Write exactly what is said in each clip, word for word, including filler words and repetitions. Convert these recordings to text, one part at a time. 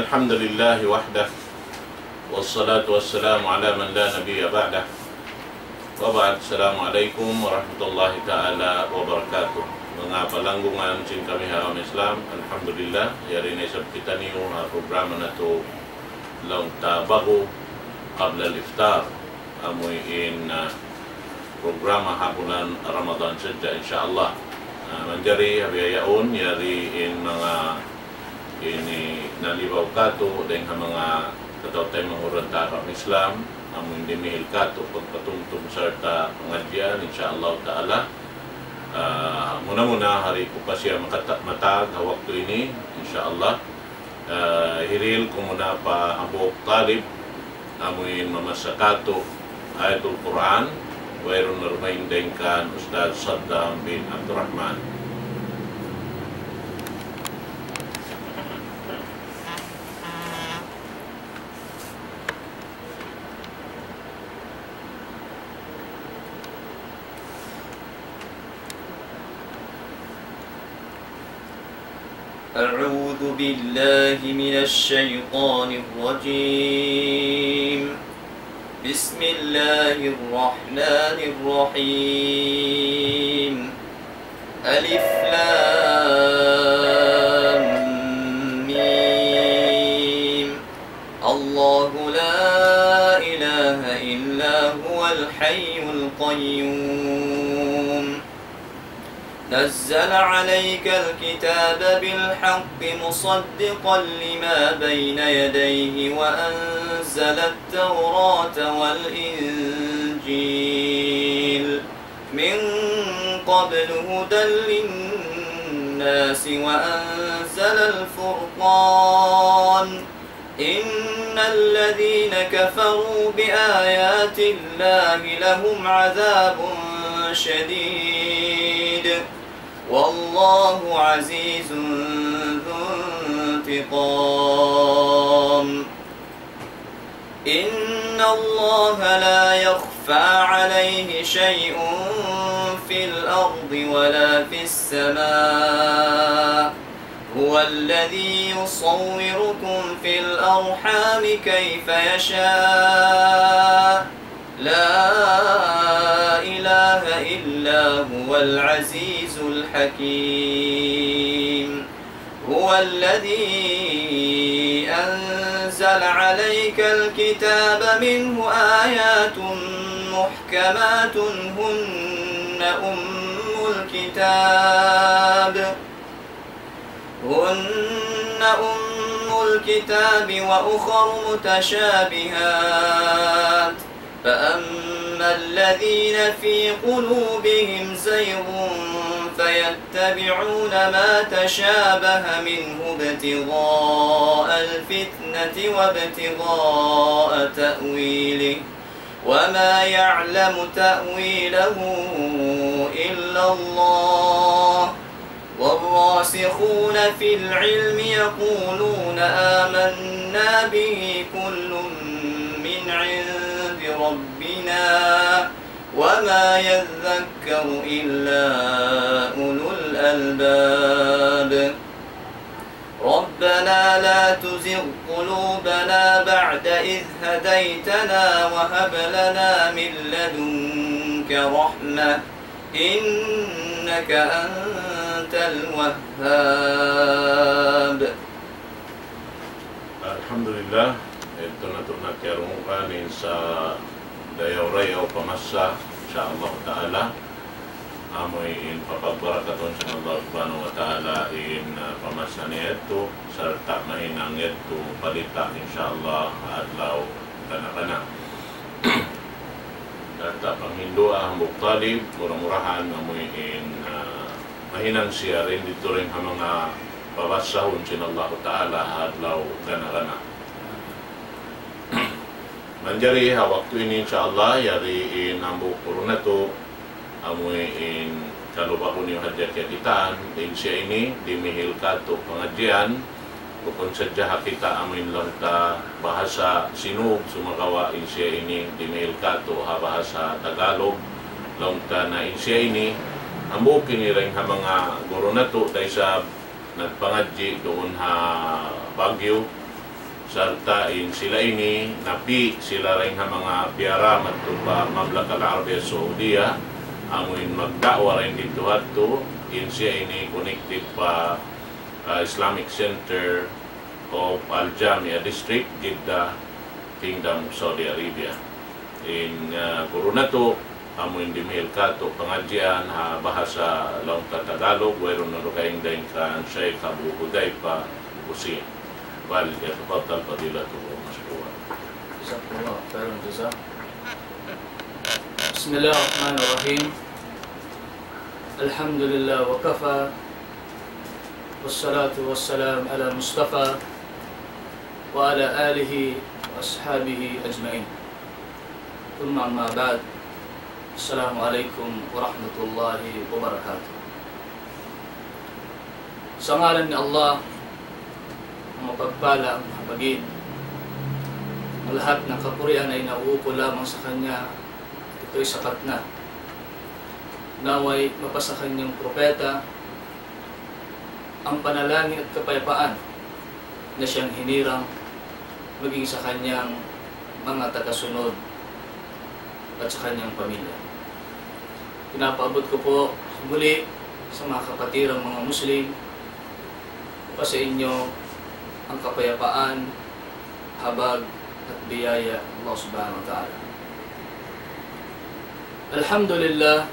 الحمد لله وحده، والصلاة والسلام على من لا نبي بعده. وبعد، السلام عليكم ورحمة الله تعالى وبركاته. Manga palanggungan sin kami ha agama Islam, alhamdulillah, yari na isab kitaniyu ha programa natu' laung ta Bahu Qabla al-Iftar, amuin, ah, programa ha bulan Ramadan sadja, insya Allah. Ah, manjari ha bihaun, yari in manga ini nalibaw katu' dayn ha manga kataw-taymanghuran ta ha agama Islam, amuin dimihil katu' pagpatumtum sarta' pangadjian, insya Allah ta'ala. Ah, muna-muna, di' ku pa siya makata-, matag ha waktu ini, insya Allah. Ah, hirihil ku muna pa hambuuk talib, amuin mamassa katu' Ayatul Quran, wayruun na dumatung dayn kan Ustadz Saddam bin Abdurrahman. أعوذ بالله من الشيطان الرجيم. بسم الله الرحمن الرحيم. ألف لام ميم. الله لا إله إلا هو الحي القيوم. نزل عليك الكتاب بالحق مصدقا لما بين يديه وأنزل التوراة والإنجيل من قبل هدى للناس وأنزل الفرقان. إن الذين كفروا بآيات الله لهم عذاب شديد والله عزيز ذو انتقام. إن الله لا يخفى عليه شيء في الأرض ولا في السماء. هو الذي يصوركم في الأرحام كيف يشاء. لا إله إلا هو العزيز الحكيم. هو الذي أنزل عليك الكتاب منه آيات محكمات هن أم الكتاب هن أم الكتاب وأخر متشابهات، فأما الذين في قلوبهم زيغ فيتبعون ما تشابه منه ابتغاء الفتنة وابتغاء تأويله، وما يعلم تأويله إلا الله، والراسخون في العلم يقولون آمنا به كل من عند ربنا وما يذكر إلا أولو الألباب. ربنا لا تزغ قلوبنا بعد إذ هديتنا وهب لنا من لدنك رحمة إنك أنت الوهاب. Alhamdulillah, yadtu natu' na kiyarungugan in sa dayaw-rayaw pamassa, insya Allah ta'ala. Amu in papagbarakatun sin Allah subhanahu wa ta'ala in, ah, pamassa niya yadtu, sarta' mahinang yadtu palita, insya Allah, ha adlaw gana-gana. Sarta' panghindu' ha hambuuk talib, mura-murahan amu in, ah, mahinang siya dayn didtu dayn ha manga pabassahun sin Allah ta'ala ha adlaw gana-gana. Manjari ha waktu ini, insya Allah, yari in hambuuk guru natu', amu in kalu Bahu niyu hadja kiyakitaan, in siya ini dimihil katu' pangadjian, bukun sadja ha kita amu in laung ta bahasa Sinug, sumagawa' in siya ini dimihil katu' ha bahasa Tagalog, laung ta na in siya ini, hambuuk ini dayn ha manga guru natu', da isab nagpangadji' duun ha Baguio, Sarta' in sila ini, napi' sila dayn ha manga piyara madtu pa Mamlaka Al-Arabiya Saudiya, amuin magda'wa dayn didtu hadtu, in siya ini connected pa, ah, Islamic Center of Al Jamia District, Jeddah, Kingdom of Saudi Arabia. In, ah, guru natu', amuin dimihil katu' pangadjian ha bahasa laung ta Tagalog, wayruun na dugaing dayn kan Sheikh Abu Hudhaifa Hussein. فليتفضل فضيلته مشكورا. جزاكم الله خير الجزاء. بسم الله الرحمن الرحيم. الحمد لله وكفى، والصلاة والسلام على المصطفى وعلى آله وأصحابه أجمعين. ثم أما بعد. السلام عليكم ورحمة الله وبركاته. Sa ngalan ni Allah, ang mapagpala, ang mahabagin. Ang lahat ng kapurian ay nauukol lamang sa Kanya, ito'y sapat na. Nawa'y mapasa Kanyang propeta, ang panalangin at kapayapaan na siyang hinirang maging sa kanyang mga tagasunod at sa kanyang pamilya. Pinapaabot ko po muli sa mga kapatirang mga Muslim, pa sa inyo ang kapayapaan, habag at biyaya ng Allah Subhanahu wa Ta'ala. Alhamdulillah,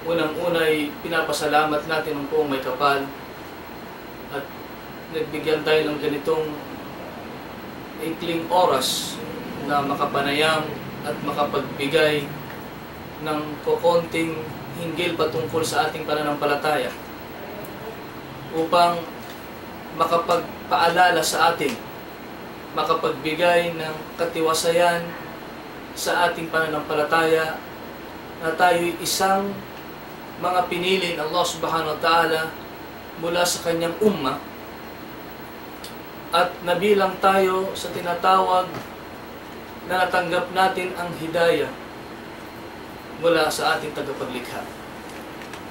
unang-una'y pinapasalamat natin ang Poong Maykapal at nagbigyan tayo ng ganitong ikling oras na makapanayam at makapagbigay ng kokonting hinggil patungkol sa ating pananampalataya upang makapagpaalala sa atin, makapagbigay ng katiwasayan sa ating pananampalataya na tayo'y isang mga pinili ng Allah Subhanahu wa Ta'ala mula sa kanyang umma at nabilang tayo sa tinatawag na natanggap natin ang hidayah mula sa ating tagapaglikha,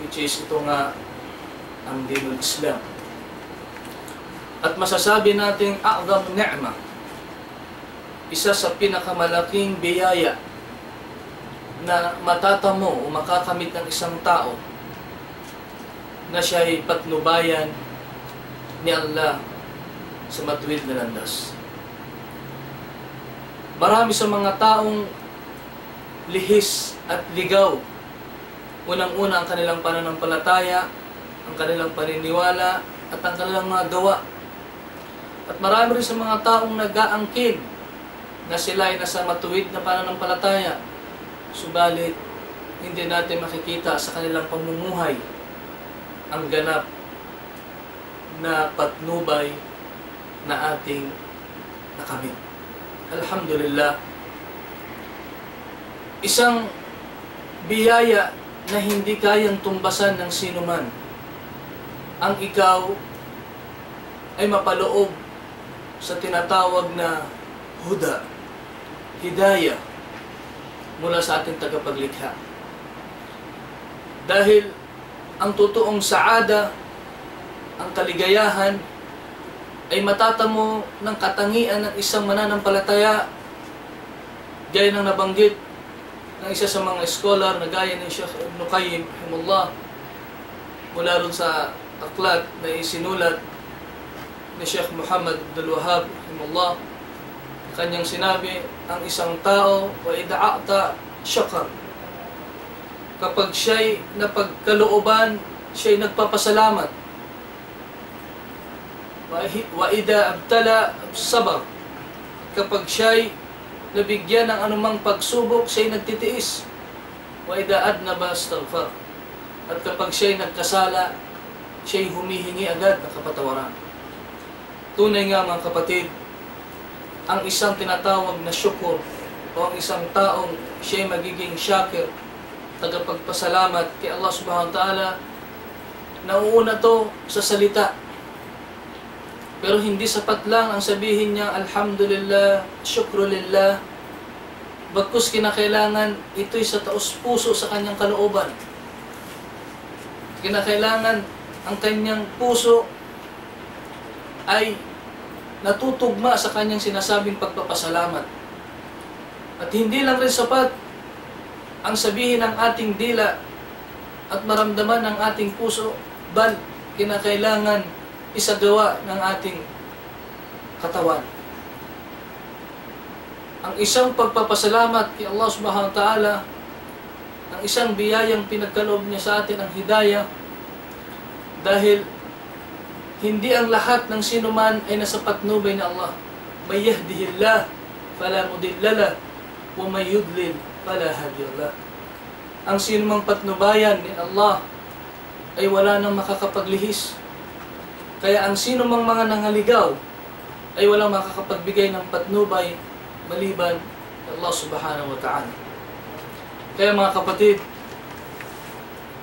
which is ito nga ang dinul Islam. At masasabi natin, a'zam ni'mah, isa sa pinakamalaking biyaya na matatamu o makakamit ng isang tao na siya'y patnubayan ni Allah sa matuwid na landas. Marami sa mga taong lihis at ligaw, unang-una ang kanilang pananampalataya, ang kanilang paniniwala, at ang kanilang mga gawa. At marami rin sa mga taong nag-aangkin na sila ay nasa matuwid na pananampalataya, subalit hindi natin makikita sa kanilang pamumuhay ang ganap na patnubay na ating nakamit. Alhamdulillah, isang biyaya na hindi kayang tumbasan ng sinuman ang ikaw ay mapaloob sa tinatawag na huda, hidayah, mula sa ating tagapaglikha. Dahil ang totoong saada, ang kaligayahan, ay matatamu ng katangian ng isang mananampalataya, gaya ng nabanggit ng isa sa mga scholar na gaya ni Sheikh Ibn Qayyim, rahimahullah, mula ron sa aklat na isinulat ni Sheikh Muhammad Abdul Wahhab, rahimahullah, kanyang sinabi, ang isang tao, وإذا أعطى شكر, kapag siya'y napagkalooban, siya'y nagpapasalamat. وإذا ابتلي صبر, kapag siya'y nabigyan ng anumang pagsubok, siya'y nagtitiis. وإذا أذنب استغفر, at kapag siya'y nagkasala, siya'y humihingi agad ng kapatawaran. Tunay nga, mga kapatid, ang isang tinatawag na shukr o ang isang taong siya'y magiging shakir, tagapagpasalamat kay Allah Subhanahu wa Ta'ala, nauuna to sa salita. Pero hindi sapat lang ang sabihin niya, "Alhamdulillah, shukru lillah." Bagkus kinakailangan ito'y sa taos puso sa kanyang kalooban. Kinakailangan ang kanyang puso ay natutugma sa kanyang sinasabing pagpapasalamat. At hindi lang rin sapat ang sabihin ng ating dila at maramdaman ng ating puso, bal kinakailangan isagawa ng ating katawan. Ang isang pagpapasalamat kay Allah Subhanahu wa Ta'ala, ang isang biyayang pinagkaloob niya sa atin ang hidayah, dahil hindi ang lahat ng sinuman ay nasa patnubay ni Allah. من يهده الله فلا مضل له ومن يضلل فلا هادي له. Ang sinumang patnubayan ni Allah ay wala nang makakapaglihis. Kaya ang sinumang mga nangaligaw ay walang makakapagbigay ng patnubay maliban kay Allah Subhanahu wa Ta'ala. Kaya, mga kapatid,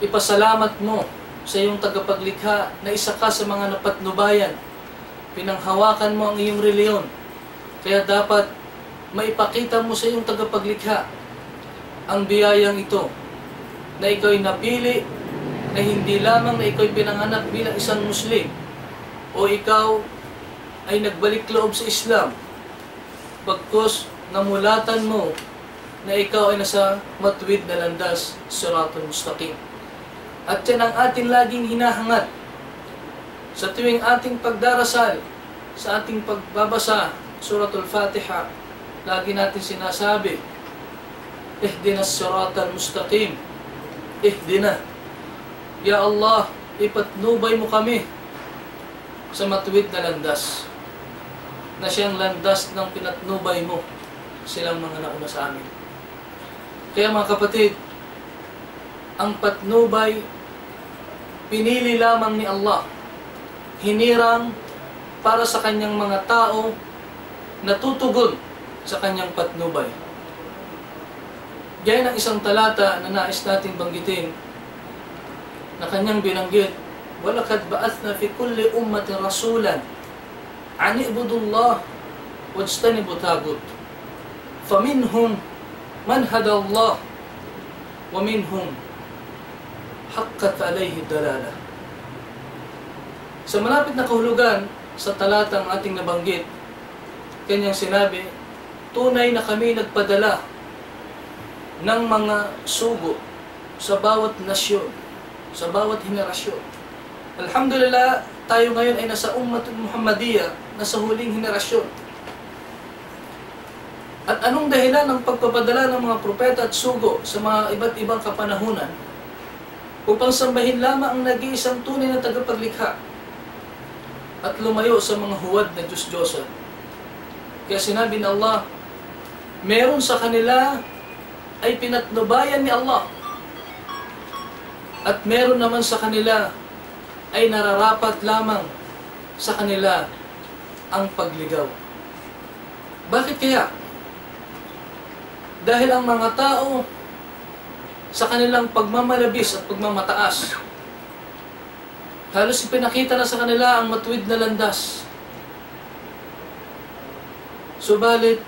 ipasalamat mo sa iyong tagapaglikha na isa ka sa mga napatnubayan. Pinanghawakan mo ang iyong reliyon. Kaya dapat maipakita mo sa iyong tagapaglikha ang biyayang ito, na ikaw ay napili, na hindi lamang na ikaw ay pinanganak bilang isang Muslim o ikaw ay nagbalik loob sa Islam, bagkus namulatan mo na ikaw ay nasa matuwid na landas, Siratul Mustaqim. At yan ang atin laging hinahangad sa tuwing ating pagdarasal, sa ating pagbabasa Suratul Fatiha, lagi natin sinasabi, اهدنا الصراط المستقيم. اهدنا. Ya Allah, ipatnubay mo kami sa matuwid na landas, na siyang landas ng pinatnubay mo silang mga nauna sa amin. Kaya, mga kapatid, ang patnubay pinili lamang ni Allah, hinirang para sa kanyang mga tao na tutugon sa kanyang patnubay. Diyan ang isang talata na nais natin banggitin, na kanyang binanggit, ولقد بعثنا في كل أمة رسولا أن اعبدوا الله واجتنبوا الطاغوت فمنهم من هدى الله ومنهم من حقت عليه الضلالة. Sa malapit na kahulugan sa talatang ating nabanggit, kanyang sinabi, tunay na kami nagpadala ng mga sugo sa bawat nasyon, sa bawat henerasyon. Alhamdulillah, tayo ngayon ay nasa Ummatul Muhammadiyah, nasa huling henerasyon. At anong dahilan ng pagpapadala ng mga propeta at sugo sa mga iba't ibang kapanahunan? Upang sambahin lamang ang nag-iisang tunay na tagapaglikha at lumayo sa mga huwad na Diyos-Diyosan. Kaya sinabi ng Allah, meron sa kanila ay pinatnubayan ni Allah, at meron naman sa kanila ay nararapat lamang sa kanila ang pagligaw. Bakit kaya? Dahil ang mga tao, sa kanilang pagmamalabis at pagmamataas, halos ipinakita na sa kanila ang matuwid na landas. Subalit,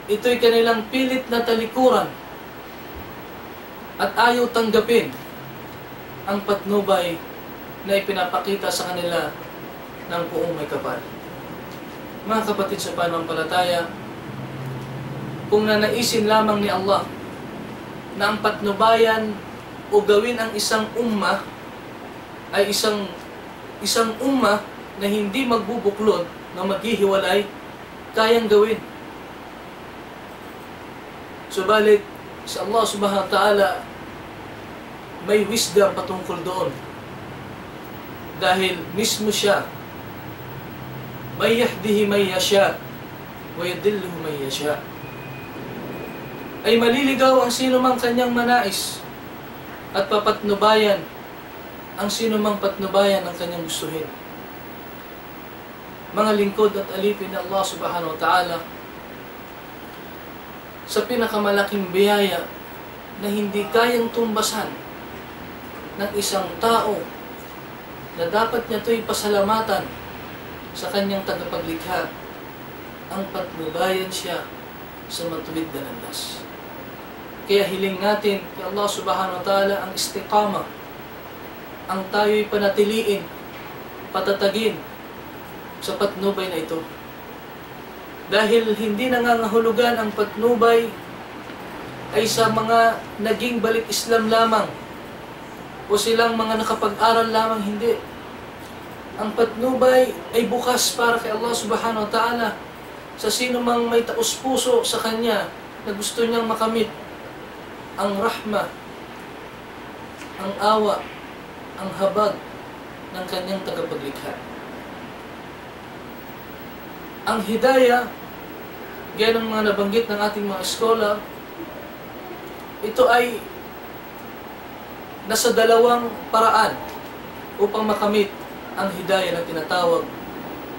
ito'y kanilang pilit na talikuran at ayaw tanggapin ang patnubay na ipinapakita sa kanila ng Poong Maykapal. Mga kapatid sa pananampalataya, kung nanaisin lamang ni Allah na ang patnubayan o gawin ang isang ummah ay isang, isang ummah na hindi magbubuklod, na maghihiwalay, kayang gawin. Subalit, si Allah Subhanahu wa Ta'ala may wisdom patungkol doon. Dahil mismo siya, من يهده من يشاء ويضل من يشاء. Ay maliligaw ang sino mang kanyang manais, at papatnubayan ang sino mang patnubayan ang kanyang gustuhin. Mga lingkod at alipin ni Allah Subhanahu wa Ta'ala, sa pinakamalaking biyaya na hindi kayang tumbasan ng isang tao na dapat niya ito'y pasalamatan sa kanyang tagapaglikha, ang patnubayan siya sa matuwid na landas. Kaya hiling natin kay Allah Subhanahu wa Ta'ala ang istiqamah, ang tayo'y panatiliin, patatagin sa patnubay na ito. Dahil hindi nangangahulugan ang patnubay ay sa mga naging balik Islam lamang o silang mga nakapag-aral lamang, hindi. Ang patnubay ay bukas para kay Allah Subhanahu wa Ta'ala sa sino mang may taus-puso sa Kanya na gusto niyang makamit ang rahma, ang awa, ang habag ng Kanyang tagapaglikha. Ang hidayah, gaya ng mga nabanggit ng ating mga scholar, ito ay nasa dalawang paraan upang makamit ang hidayah na tinatawag.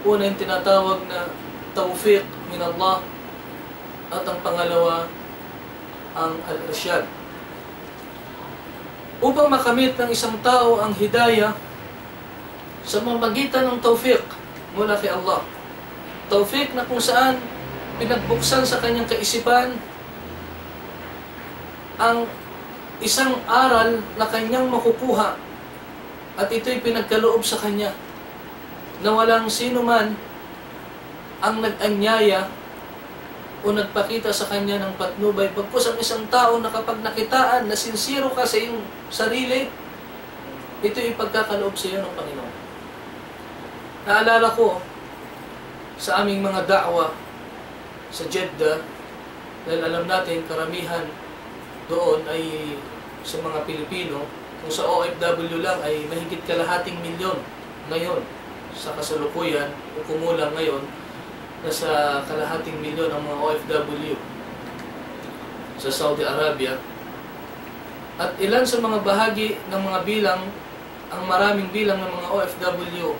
Una, yung tinatawag na tawfiq min Allah, at ang pangalawa, ang al-irshad. Upang makamit ng isang tao ang hidayah sa pamamagitan ng tawfiq mula kay Allah. Tawfiq na kung saan pinagbuksan sa kanyang kaisipan ang isang aral na kanyang makukuha, at ito'y pinagkaloob sa kanya na walang sino man ang nag-anyaya o nagpakita sa kanya ng patnubay, bagkus ang isang tao na kapag nakitaan na sinsero ka sa iyong sarili, ito'y ipagkakaloob sa iyo ng Panginoon. Naalala ko sa aming mga da'wah sa Jeddah, dahil alam natin, karamihan doon ay sa mga Pilipino. Kung sa O F W lang ay mahigit kalahating milyon ngayon sa kasalukuyan, o kumulang ngayon, nasa kalahating milyon ang mga O F W sa Saudi Arabia. At ilan sa mga bahagi ng mga bilang, ang maraming bilang ng mga O F W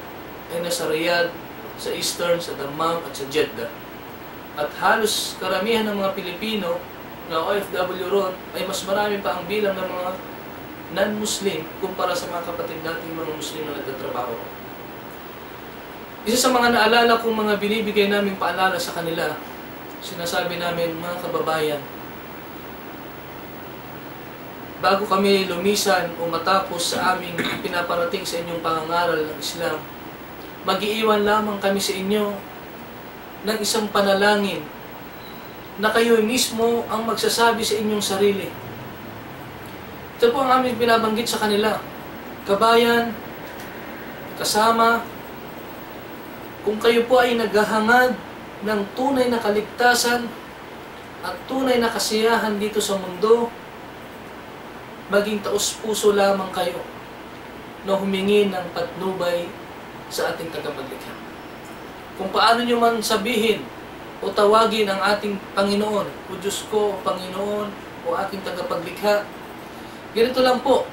ay nasa Riyadh, sa Eastern, sa Dammam, at sa Jeddah. At halos karamihan ng mga Pilipino na O F W ron ay mas marami pa ang bilang ng mga non-Muslim kumpara sa mga kapatid nating mga Muslim na nagtatrabaho. Isa sa mga naalala kong mga binibigay naming paalala sa kanila, sinasabi namin, "Mga kababayan, bago kami lumisan o matapos sa aming pinaparating sa inyong pangangaral ng Islam, mag-iiwan lamang kami sa inyo ng isang panalangin na kayo mismo ang magsasabi sa inyong sarili." Ito po ang aming binabanggit sa kanila. Kabayan, kasama, kung kayo po ay naghahangad ng tunay na kaligtasan at tunay na kasiyahan dito sa mundo, maging taus-puso lamang kayo na humingi ng patnubay sa ating tagapaglikha. Kung paano nyo man sabihin o tawagin ang ating Panginoon, "O Diyos ko, o Panginoon, o aking tagapaglikha," ganito lang po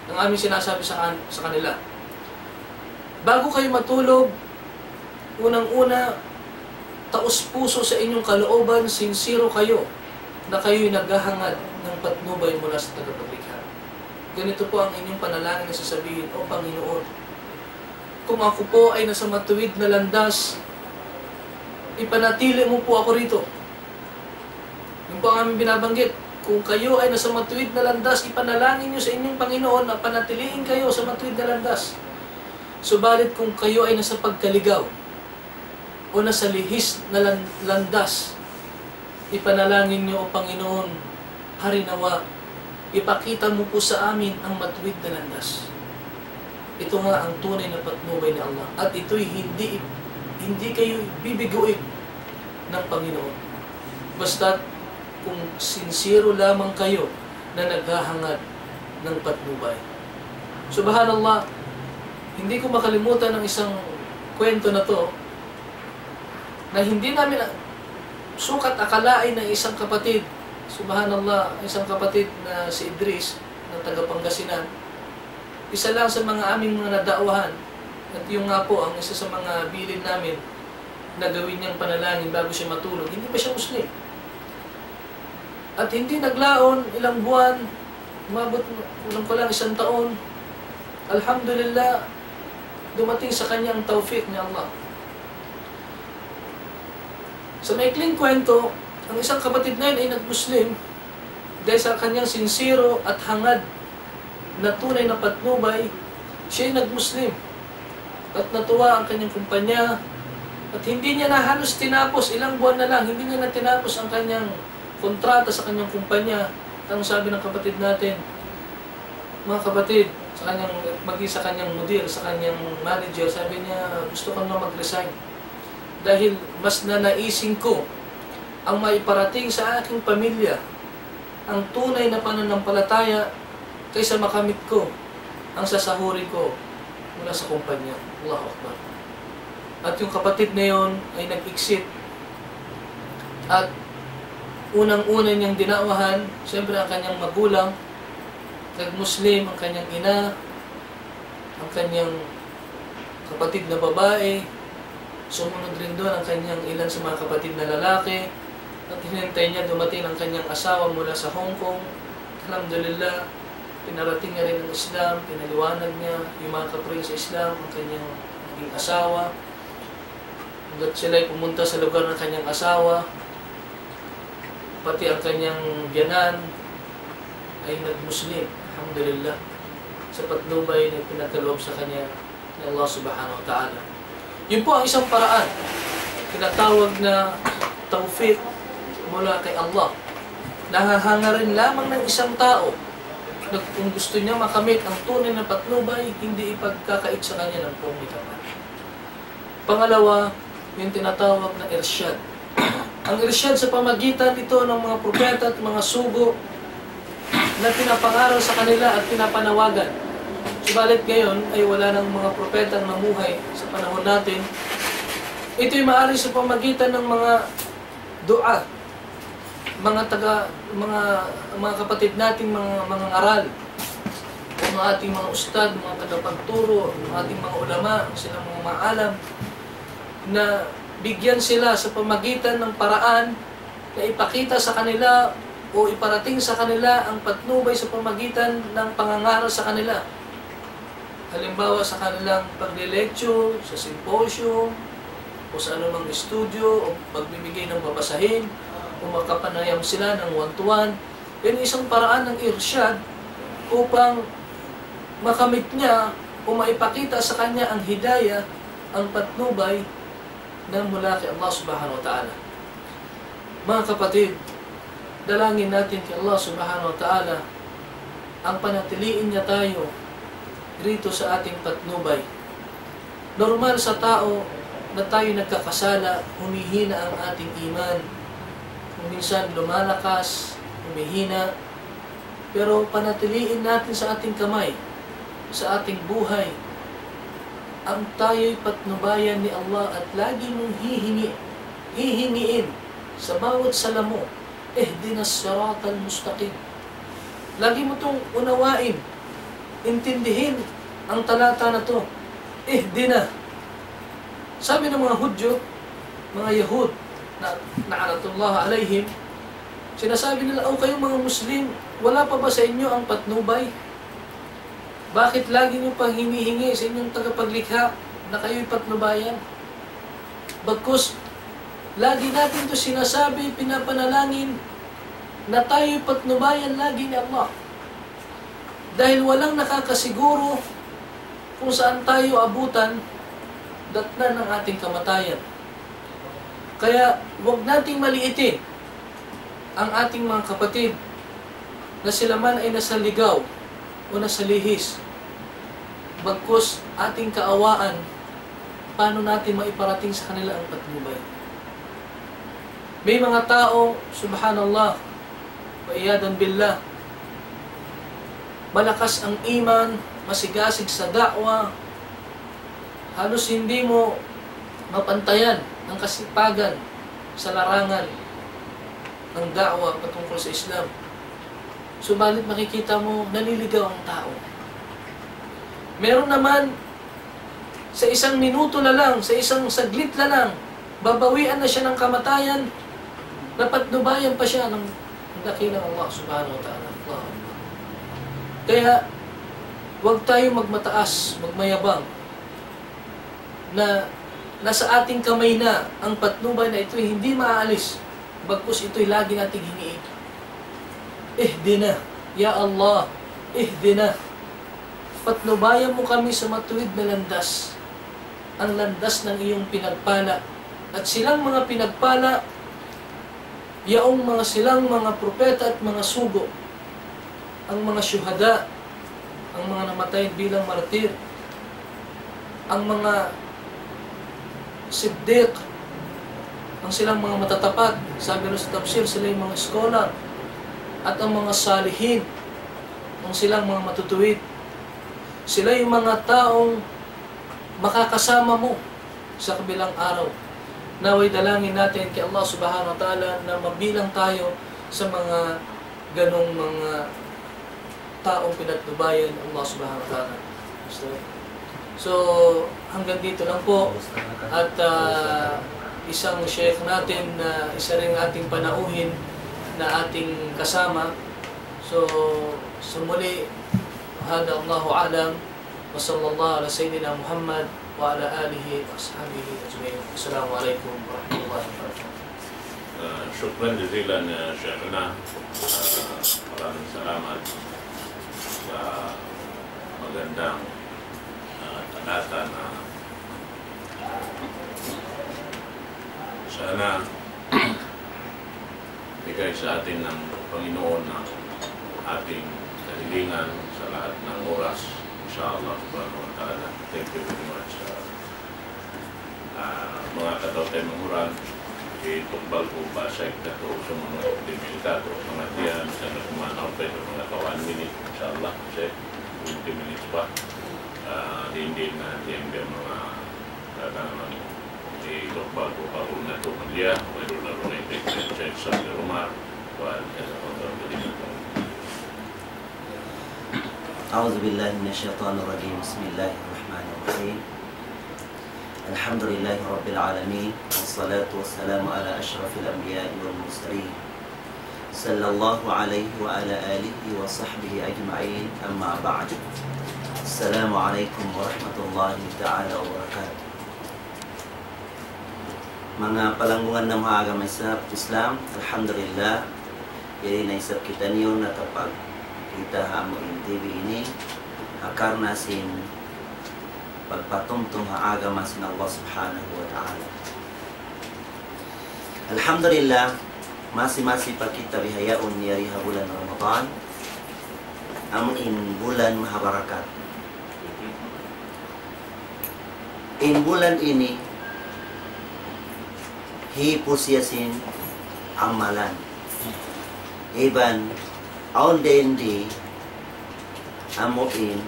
ang aming sinasabi sa kan-, sa kanila. Bago kayo matulog, unang-una, taus-puso sa inyong kalooban, sinsero kayo na kayo'y naghahangad ng patnubay mula sa tagapaglikha. Ganito po ang inyong panalangin na sasabihin, "O Panginoon, kung ako po ay nasa matuwid na landas, ipanatili mo po ako rito." Yun po ang aming binabanggit. Kung kayo ay nasa matuwid na landas, ipanalangin nyo sa inyong Panginoon na panatilihin kayo sa matuwid na landas. Subalit kung kayo ay nasa pagkaligaw o nasa lihis na lan-, landas, ipanalangin nyo, "O Panginoon, hari nawa, ipakita mo po sa amin ang matuwid na landas." Ito nga ang tunay na patnubay ni Allah. At ito'y hindi, hindi kayo bibiguin ng Panginoon. Basta kung sinsero lamang kayo na naghahangad ng patnubay. Subhanallah, hindi ko makalimutan ang isang kwento na to na hindi namin a-, sukat akalain na isang kapatid, subhanallah, isang kapatid na si Idris, na taga Pangasinan, isa lang sa mga aming mga nada'wahan. At yun nga po ang isa sa mga bilin namin na gawin niyang panalangin bago siya matulog. Hindi pa siya Muslim. At hindi naglaon, ilang buwan, umabot, kulang-kulang isang taon. Alhamdulillah, dumating sa kanya ang tawfiq ni Allah. Sa maikling kwento, ang isang kapatid na yun ay nag-Muslim dahil sa kanyang sinsero at hangad na tunay na patnubay, siya'y nag-Muslim. At natuwa ang kanyang kumpanya, At hindi niya na halos tinapos, ilang buwan na lang, hindi niya na tinapos ang kanyang kontrata sa kanyang kumpanya. Ang sabi ng kapatid natin, mga kapatid, sa kanyang, maging sa kanyang mudir, sa kanyang manager, sabi niya, "Gusto ko na mag-resign. Dahil mas nanaisin ko ang maiparating sa aking pamilya ang tunay na pananampalataya kaysa makamit ko ang sasahurin ko mula sa kumpanya." Allahu Akbar. At yung kapatid na yon ay nag-exit. At unang-una niyang dinakwahan, siyempre, ang kanyang magulang, nag-Muslim ang kanyang ina, ang kanyang kapatid na babae, sumunod rin doon ang kanyang ilan sa mga kapatid na lalaki, at hinintay niya dumating ang kanyang asawa mula sa Hong Kong. Alhamdulillah, pinarating niya rin ang Islam, pinaliwanag niya, yumakap rin sa Islam ang kanyang naging asawa. Hanggat sila'y pumunta sa lugar ng kanyang asawa, pati ang kanyang biyanan ay nag-Muslim. Alhamdulillah. Sa patnubay na pinagkaloob sa kanya ni Allah Subhanahu wa Ta'ala. Yun po ang isang paraan. Tinatawag na tawfiq mula kay Allah. Nahahanga rin lamang ng isang tao na kung gusto niya makamit ang tunay na patnubay, hindi ipagkakait sa kanya ng pungit. Pangalawa, yung tinatawag na irshad. Ang irshad sa pamagitan ito ng mga propeta at mga sugo na pinapangaral sa kanila at pinapanawagan. Subalit ngayon ay wala nang mga propeta na namuhay sa panahon natin. Ito'y maaari sa pamagitan ng mga dua, mga taga, mga, mga kapatid nating mga, mga ngaral, mga ating mga ustad, mga tagapagturo, mga ating mga ulama, silang mga maalam, na bigyan sila sa pamagitan ng paraan na ipakita sa kanila o iparating sa kanila ang patnubay sa pamagitan ng pangangaral sa kanila. Halimbawa, sa kanilang pagle-lecture, sa symposium, o sa anumang studio, o pagbibigay ng babasahin, o makapanayam sila ng one-to-one. Yan isang paraan ng irshad upang makamit niya o maipakita sa kanya ang hidayah, ang patnubay na mula kay Allah Subhanahu wa Ta'ala. Mga kapatid, dalangin natin kay Allah Subhanahu wa Ta'ala ang panatiliin niya tayo rito sa ating patnubay. Normal sa tao na tayo nagkakasala, humihina ang ating iman. Kung minsan lumalakas, humihina. Pero panatiliin natin sa ating kamay, sa ating buhay, ang tayo'y patnubayan ni Allah at lagi mong hihingi, hihingiin sa bawat salamu, "Ihdinas siratal mustaqim." Lagi mo itong unawain, intindihin ang talata na to. Ihdina. Sabi ng mga Hudyo, mga Yahud, na, na'natullah alayhim, sinasabi nila, "O kayong mga Muslim, wala pa ba sa inyo ang patnubay? Bakit lagi niyo pang hinihingi sa inyong tagapaglikha na kayo'y patnubayan?" Bagkus, lagi natin to sinasabi, pinapanalangin, na tayo'y patnubayan lagi ni Allah. Dahil walang nakakasiguro kung saan tayo abutan, datnan ng ating kamatayan. Kaya, huwag nating maliitin ang ating mga kapatid na sila man ay nasa ligaw o nasa lihis. Bagkus ating kaawaan, paano natin maiparating sa kanila ang patnubay? May mga tao, subhanallah, wa iyadan billah, malakas ang iman, masigasig sa da'wa, halos hindi mo mapantayan ang kasipagan sa larangan ng da'wa patungkol sa Islam. Subalit makikita mo, naliligaw ang tao. Meron naman, sa isang minuto na lang, sa isang saglit na lang, babawian na siya ng kamatayan, napatnubayan pa siya ng dakilang Allah Subhanahu wa Ta'ala. Allahu Akbar. Kaya, huwag tayo magmataas, magmayabang, na nasa ating kamay na ang patnubay na ito'y hindi maaalis, bagkus ito'y lagi nating hingiin. Ihdina, ya Allah, ihdina. Patnubayan mo kami sa matuwid na landas, ang landas ng iyong pinagpala, At silang mga pinagpala, yaong mga silang mga propeta at mga sugo, ang mga syuhada, ang mga namatay bilang martir, ang mga siddiq, ang silang mga matatapat, sabi rin sa tafsir, sila yung mga scholar, at ang mga salihin, ang silang mga matutuwid. Sila yung mga taong makakasama mo sa kabilang araw. Nawa'y dalangin natin kay Allah Subhanahu wa Ta'ala na mabilang tayo sa mga ganong mga taong pinagnubayan ng Allah Subhanahu wa Ta'ala. So, hanggang dito lang po. At ah, isang sheikh natin na isa rin ating panauhin na ating kasama. So, sa muli, هذا الله أعلم. وصلى الله على سيدنا محمد وعلى آله وأصحابه أجمعين. السلام عليكم ورحمة الله وبركاته. Ah, shukran jazilan, ah, Sheikhna. Ah, maraming salamat sa magandang, ah, talata na sana bigay sa atin ng Panginoon ang ating kahilingan sa lahat ng oras, insha Allah subhanahu wa ta'ala. Thank you very much. Ah, ah, manga kataw-taymanghuran, itukbal ku pa sa ikatu, sa mga twenty minutes, sa mga tiyan, sa nagmanaw pa ito, mga ka one minute, insha Allah, kasi twenty minutes pa. Ah, hindi na, hindi ang mga katangan. Itukbal ku pa kung natu malia, mayroon na rin ito sa Sir Romar, kuwan, sa pagkakalimutan. أعوذ بالله من الشيطان الرجيم. بسم الله الرحمن الرحيم. الحمد لله رب العالمين، والصلاة والسلام على أشرف الأنبياء والمرسلين، صلى الله عليه وعلى آله وصحبه أجمعين، أما بعد. السلام عليكم ورحمة الله تعالى وبركاته. Manga palanggungan namu' ha agama Islam, Islam, alhamdulillah, yari na isab kitaniyu nakapagkita' ha amu in T V ini, ha karna' sin pagpatumtum ha agama sin Allah Subhanahu wa Ta'ala. Alhamdulillah, masi-masi pa kita bihaun yari ha bulan Ramadan, amu in bulan mahabarakat. In bulan ini, hipu siya sin amalan. Iban, awn dayn di, amu in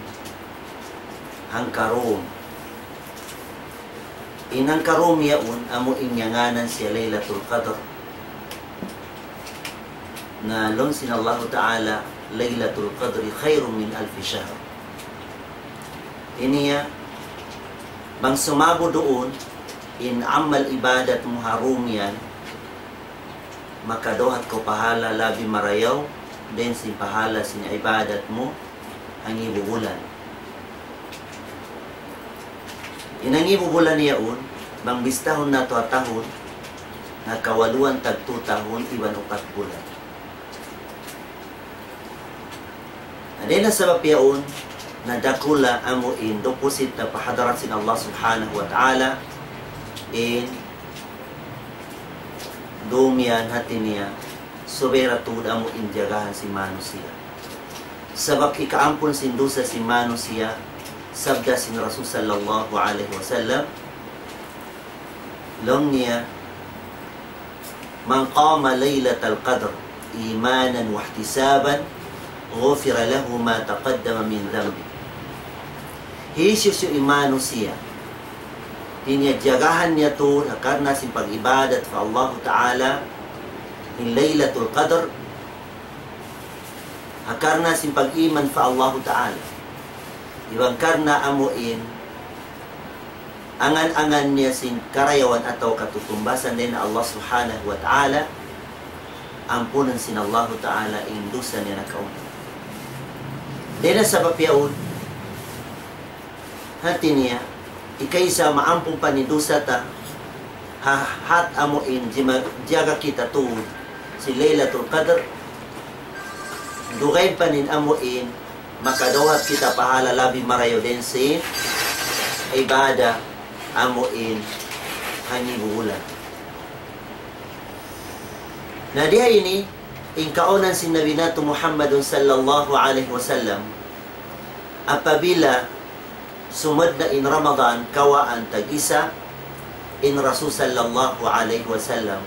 hangkarum. In hangkarum yaun, amu in ngānan siya Laylatul Qadr. Na laung sin Allahu Ta'ala, ليلة القدر خير من ألف شهر. Ini ya, bang sumabut duun, in amal ibadat mu ha rum yan, makadawhat kaw pahala labi marayaw, dayn sin pahala sin ibadat mu, hangibu bulan. In hangibu bulan yaun, bang bistahun natu' ha tahun, nakawaluan tagtu tahun iban upat bulan. Na dayn ha sabab yaun, na dakula' amu in dupusit na pa hadarat sin Allah Subhanahu wa Ta'ala, in dumiyan hati niya, subay da tuud amu in jagahan sin manusiya'. Sabab hikaampun sin dusa sin manusiya', sabda sin Rasul sallallahu alayhi wasallam, laung niya, من قام ليلة القدر إيمانا واحتسابا غفر له ما تقدم من ذنبه. Hisiyu-siyu in manusiya', hati niya jagahan niya tuud, ha karna' sin pag-ibadat pa Allahu Ta'ala, in Laylatul Qadr, ha karna' sin pag-iman pa Allahu Ta'ala. Iban karna' amu in angan-angan niya sin karayawan atawa katutumbasan dayn ha Allah Subhanahu wa Ta'ala, ampunun sin Allahu Ta'ala in dusa niya nakauna. Dayn ha sabab yaun, hati niya, hikaisa maampun pa in dusa ta, ha, hat amu in jima-, jaga kita tuud sin Laylatul Qadr, dugaing pa in amu in makadawhat kita pahala labi marayaw dayn sin ibadat amu in hangibu bulan. Na diya ini, in kaunan sin Nabi natu' Muhammadun sallallahu alayhi wasallam, apabila sumud na in Ramadan, kawaan tag-isa, in Rasul sallallahu alayhi wasallam,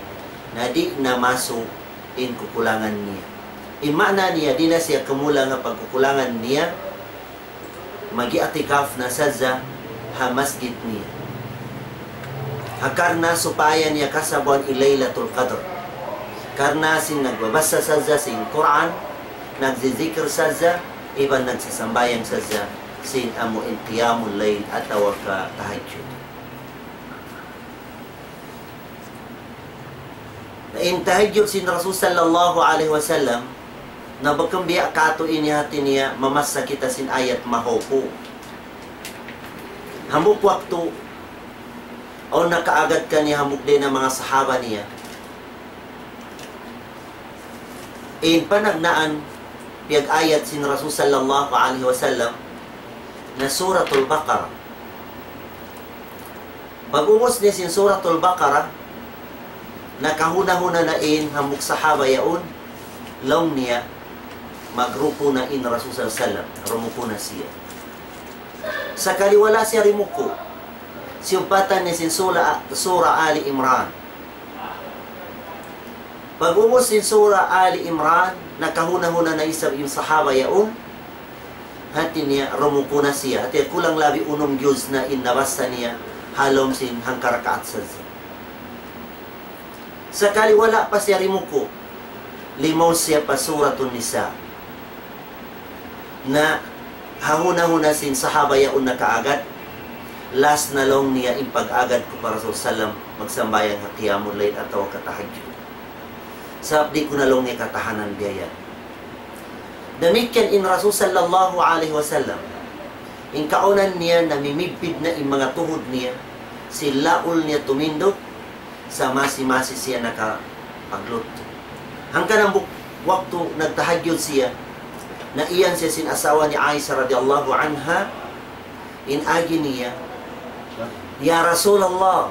na di' na masu' in kukulangan niya. In maana niya, di' na siya kamulang ha pagkukulangan niya, mag-i'tikaf na sadja ha masjid niya. Ha karna' supaya niya kasabuan in Laylatul Qadr. Karna' sin nagbabasa sadja sin Qur'an, nagzizikir sadja, iban nagsasambahayang sadja, sin amu in qiyamul layl atawa ka tahajjud. Na in tahajjud sin Rasul sallallahu alayhi wasallam, na bukun biya' katu' ini hati niya, mamassa kita sin ayat mahawpu'. Hambuuk waktu, awn nakaagad kaniya hambuuk dayn ha manga sahaba niya. In panagnaan, piyag-ayat sin Rasul sallallahu alayhi wasallam, na Suratul Baqarah. Pag-ubus niya sin Suratul Baqarah, nakahuna-huna na in hambuuk sahaba yaun, laung niya, magruku' na in Rasul sallallahu alayhi wasallam, rumuku' na siya. Sakali wala' siya rimuku', siyumpatan niya sin sura, Sura Ali Imran. Pag-ubus sin Sura Ali Imran, nakahuna-huna na isab in sahaba yaun, hati niya rumuku' na siya. Hati niya kulang labi unum juz na in nabassa niya, ha lawm sin hangka rakaat sadja. Sakali wala' pa siya rimuku', limaw siya pa Suratun Nisa. Na hahuna-huna sin sahaba yaun nakaagad, last na laung niya in pag-agad ku pa Rasul sallam, magsambahayang ha qiyamul layl atawa ka tahajjud. Sabab di' ku na laung niya katahanan biya' yan. Damikkiyan in Rasul sallallahu alayhi wasallam, in kaunan niya namimidpid na in manga tuhud niya, sin laul niya tumindug, sa' masi-masi siya nakapaglutu. Hangkan hambuuk waktu nagtahajjud siya, na iyan siya sin asawa ni Aisha radiyallahu anha, in agi niya, "Ya Rasulullah,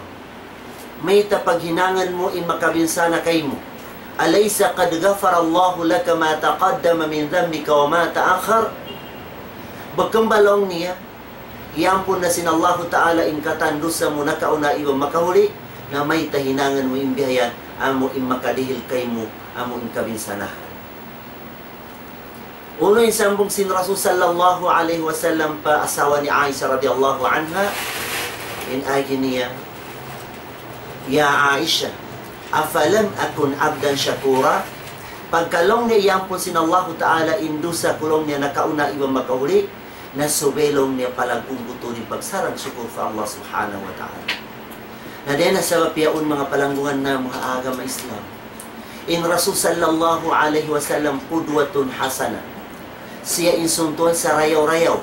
mayta' paghinangan mu in makabinsana kaymu? أليس قد غفر الله لك ما تقدم من ذنبك وما تأخر؟" Bukun ba laung niya, iyampun na sin Allahu Ta'ala in katan dusa mu nakauna iban makahuli, na mayta' hinangan mu in biya' yan, amu in makadihil kaymu, amu in kabinsanahan. Unu in sambung sin Rasul sallallahu alayhi wasallam pa asawa ni Aisha radiyallahu anha, in agi niya, "Ya Aisha, أفلم أكن عبدا شكورا؟" Pagka laung niya iyampun sin Allahu Ta'ala in dusa ku laung niya nakauna iban makahuli, na subay laung niya palagguun ku tuud in pagsarang-sukul pa Allah Subhanahu wa Ta'ala. Na dayn ha sabab yaun manga palanggungan namu' ha agama Islam. In Rasul sallallahu alayhi wasallam qudwatun hasana. Siya in suntuan sarayaw-rayaw.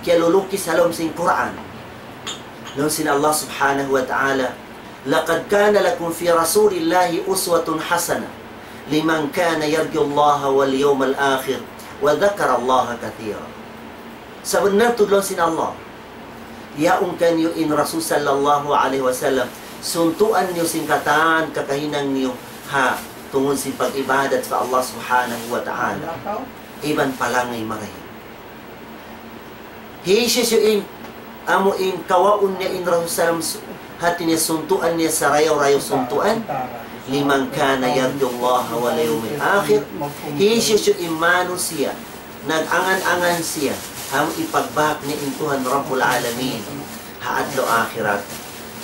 Kiyalulukis ha lawm sin Qur'an. Laung sin Allah Subhanahu wa Ta'ala, لقد كان لكم في رسول الله أسوة حسنة لمن كان يرجو الله واليوم الآخر وذكر الله كثيرا. Sabunnal tuud laung sin Allah, yaun kaniyu in Rasul sallallahu alayhi wasallam, suntuan niyu sin katan kakahinang niyu ha tungud sin pag-ibadat pa Allah Subhanahu wa Ta'ala. Iban palangay marayaw. Hisiyu-siyu in, amu in kawaun niya in Rasul sallam su-, hati niya suntuan niya sarayaw-rayaw suntuan, لمن كان يرجو الله واليوم الآخر. Hisiyu-siyu in manusiya' nag-angan-angan siya, amu in pagbak niya in Tuhan Rabbul Alamin ha adlaw akhirat,